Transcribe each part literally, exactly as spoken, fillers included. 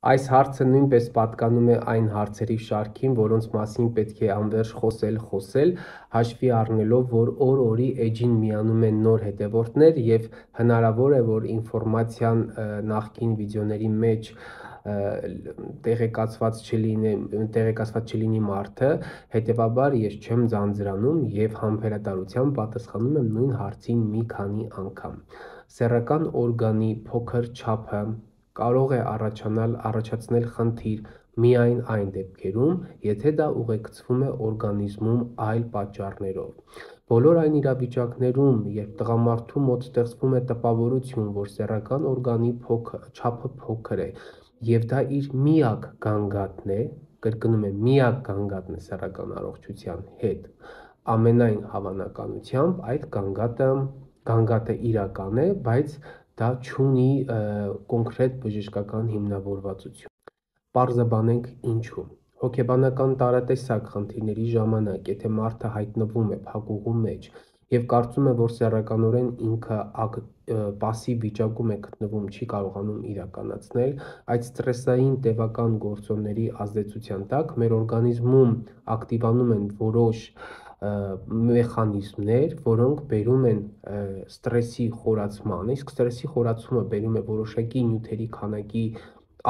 Այս հարցը նույնպես պատկանում է այն հարցերի շարքին, որոնց մասին պետք է անվերջ խոսել, խոսել, հաշվի առնելով, որ օր-օրի էջին միանում են նոր հետևորդներ և հնարավոր է, որ ինֆորմացիան նախկին վիդեոների մեջ տեղեկացված չլինի, տեղեկացված չլինի մարդը, հետևաբար ես չեմ ձանձրանում և համբերատարությամբ պատասխանում եմ նույն հարցին մի քանի անգամ։ Սեռական օրգանի փոքր չափը կարող է առաջանալ առաջացնել խնդիր միայն այն դեպքերում, եթե դա ուղեկցվում է օրգանիզմում այլ պատճառներով։ Բոլոր այն իրավիճակներում, երբ տղամարդու մոտ ստեղծվում է տպավորություն, որ սեռական օրգանի չափը փոքր է, և դա իր միակ գանգատն է, կրկնում եմ, միակ գանգատն է սեռական առողջության հետ, ամենայն հավանականությամբ այդ գանգատը, գանգատը իրական է, բայց դա չունի կոնկրետ բժշկական հիմնավորվածություն։ Պարզաբանենք ինչու։ Հոգեբանական տարատեսակ խնդիրների ժամանակ, եթե մարդը հայտնվում է փակուղու մեջ և կարծում է, որ սեռականորեն ինքը պասիվ վիճակում է գտնվում, չի կարողանում իրականացնել, այդ սթրեսային տևական գործոնների ազդեցության տակ մեր օրգանիզմում ակտիվանում են որոշ մեխանիզմներ, որոնք բերում են սթրեսի խորացմանը, իսկ սթրեսի խորացումը բերում է որոշակի նյութերի քանակի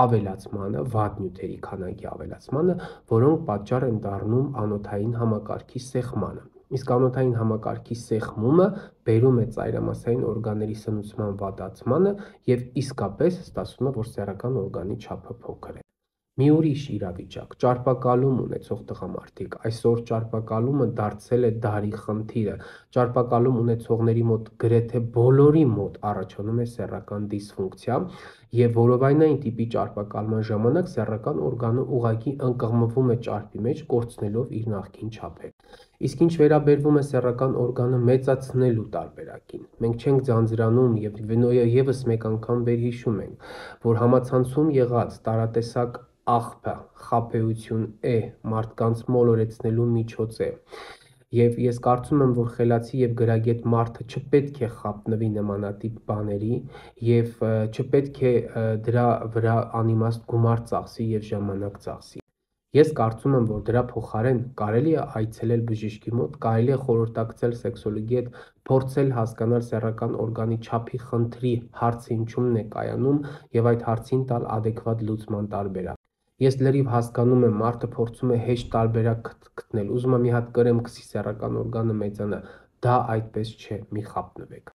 ավելացմանը, վատ նյութերի քանակի ավելացմանը, որոնք պատճառ են դառնում անոթային համակարգի սեղմանը։ Իսկ անոթային համակարգի սեղմումը բերում է ծայրամասային օրգանների սնուցման վատացմանը և իսկապես ստացվում է, որ սեռական օրգանի չափը փոքր է։ Մի ուրիշ իրավիճակ՝ ճարպակալում ունեցող տղամարդիկ։ Այսօր ճարպակալումը դարձել է դարի խնդիրը։ Ճարպակալում ունեցողների մոտ գրեթե բոլորի մոտ առաջանում է սեռական դիսֆունկցիա և որովայնային տիպի ճարպակալման ժամանակ սեռական օրգանը ուղղակի ընկղմվում է ճարպի մեջ, կորցնելով իր նախկին չափերը։ Իսկ ինչ վերաբերվում է սեռական օրգանը մեծացնելու տարբերակին, մենք չենք ձանձրանում և ևս մեկ անգամ վերհիշում ենք, որ համացանցում եղած տարատեսակ աղբը խաբեություն է, մարդկանց մոլորեցնելու միջոց է, և ես կարծում եմ, որ խելացի և գրագետ մարդը չպետք է խաբնվի նմանատիպ բաների և չպետք է դրա վրա անիմաստ գումար ծախսի և ժամանակ ծախսի։ Ես կարծում եմ, որ դրա փոխարեն կարելի է այցելել բժշկի մոտ, կարելի է խորհրդակցել սեքսոլոգի հետ, փորձել հասկանալ սեռական օրգանի չափի խնդրի հարցը ինչումն է կայանում և այդ հարցին տալ ադեկվատ լուծման տարբերակ։ Ես լրիվ հասկանում եմ, մարդը փորձում է հեշտ տարբերակ գտնել, ուզում է մի հատ կրեմ քսի սեռական օրգանը մեծանա, դա այդպես չէ, մի խաբնվեք։